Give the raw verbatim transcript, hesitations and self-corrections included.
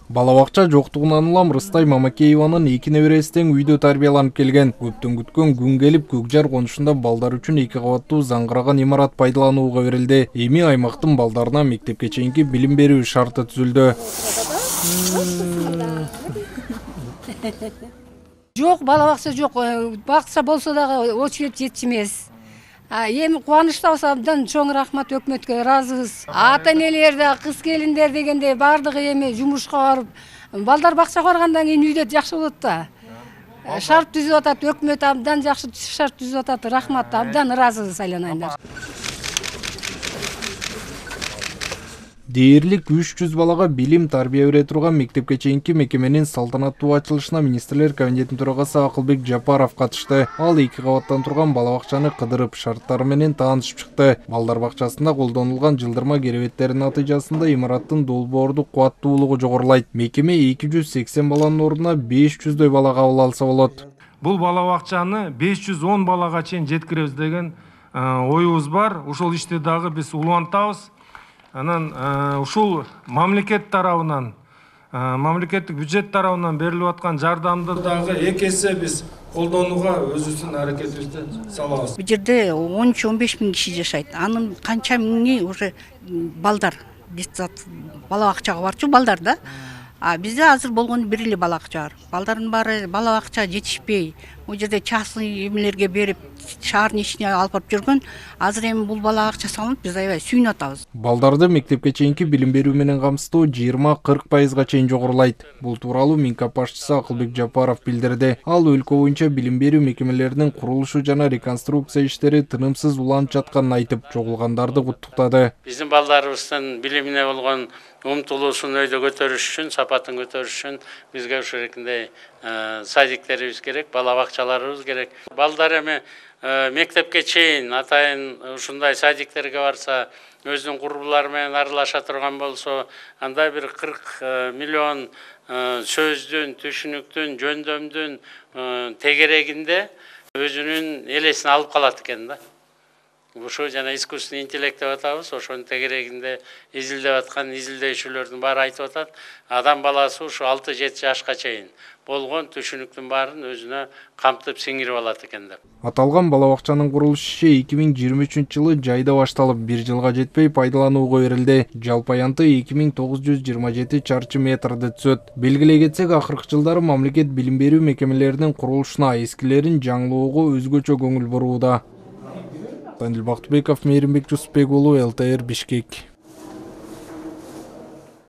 Бала бакча жоктугунан улам Рыстай Мамакееванын эки небереси тең үйдө тарбияланып келген. Көптөн күткөн күн келип, Көкжар конушунда балдар үчүн эки кабаттуу заңгыраган имарат пайдаланууга берилди. Эми аймактын балдарына мектепке чейинки билим берүү шарты түзүлдү. Жок, бала бакча жок. Бакча болсо дагы очередь жетчү эмес. Эми кубанычтабыз, абдан чоң рахмат өкмөткө, ыраазыбыз. Ата энелер да, кыз келиндер дегенде бардыгы эми жумушка барып, балдар бакчага баргандан кийин үйдө жакшы болот да. Шарт түзүп атат, өкмөт абдан жакшы шарт түзүп атат. Рахмат, абдан ыраазыбыз, айланайындар. Дээрлик үч жүз балага билим тарбия бере турган мектепке чейинки мекеменин салтанаттуу ачылышына министрлер кабинетинин төрагасы Акылбек Жапаров катышты. Ал эки кабаттан турган бала бакчаны кыдырып, шарттары менен таанышып чыкты. Балдар бакчасында колдонулган жылдырма керебеттердин натыйжасында имараттын долбоордук кубаттуулугу жогорулайт. Мекеме эки жүз сексен баланын ордуна беш жүздөй бала кабыл алса болот. Бул бала бакчаны беш жүз он балага чейин жеткиребиз деген оюбуз бар. Ушул ишти дагы биз улантабыз. Анан ушул мамлекет тарабынан, мамлекеттик бюджет тарабынан берилип аткан жардамды дагы эки эсе биз колдонууга өзүбүздүн аракетибизди салабыз. Бул жерде он үч он беш миң киши жашайт. Анын канча миңи уже балдар, детсад бала бакчага барчу балдар да. А бизде азыр болгону бир эле бала бакча бар. Балдардын баары бала бакча жетишпей, бул жерде частный эмелерге берип, шаардын ичине алып барып жүргөн. Азыр эми бул бала бакча салынып, биз аябай сүйүнүп атабыз. Балдарды мектепке чейинки билим берүү менен камсыздоо жыйырма кырк пайызга чейин жогорулайт. Бул тууралуу Минкап башчысы Акылбек Жапаров билдирди. Ал өлкө боюнча билим берүү мекемелеринин курулушу жана реконструкция иштери тынымсыз уланып жатканын айтып, чогулгандарды куттуктады. Биздин балдарыбыздын билимине болгон умтулуусун өйдө көтөрүш үчүн, сапатын көтөрүш үчүн бизге ушундай садиктерибиз керек, бала бакчаларыбыз керек. Балдар эми мектепке чейин атайын ушундай садиктерге барса, өзүнүн курбулары менен аралаша турган болсо, анда бир кырк миллион сөздүн, түшүнүктүн, жөндөмдүн тегерегинде өзүнүн элесин алып калат экен да. Ошо жана искусственный интеллект деп атабыз, ошонун тегерегинде изилдеп аткан изилдөөчүлөрдүн баары айтып атат. Адам баласы ушу алты жети жашка чейин болгон түшүнүктүн баарын өзүнө камтып сиңирип алат экен деп. Аталган бала бакчанын курулуш иши эки миң жыйырма үчүнчү жылы жайда башталып, бир жылга жетпей пайдаланууга берилди. Жалпы аянты эки миң тогуз жүз жыйырма жети чарчы метрди түзөт. Белгилей кетсек, акыркы жылдары мамлекет билим берүү мекемелеринин курулушуна, эскилерин жаңылоого өзгөчө көңүл бурууда. Танил Бактыбеков, Мейримбек Жусупбек уулу, эл тэ эр, Бишкек.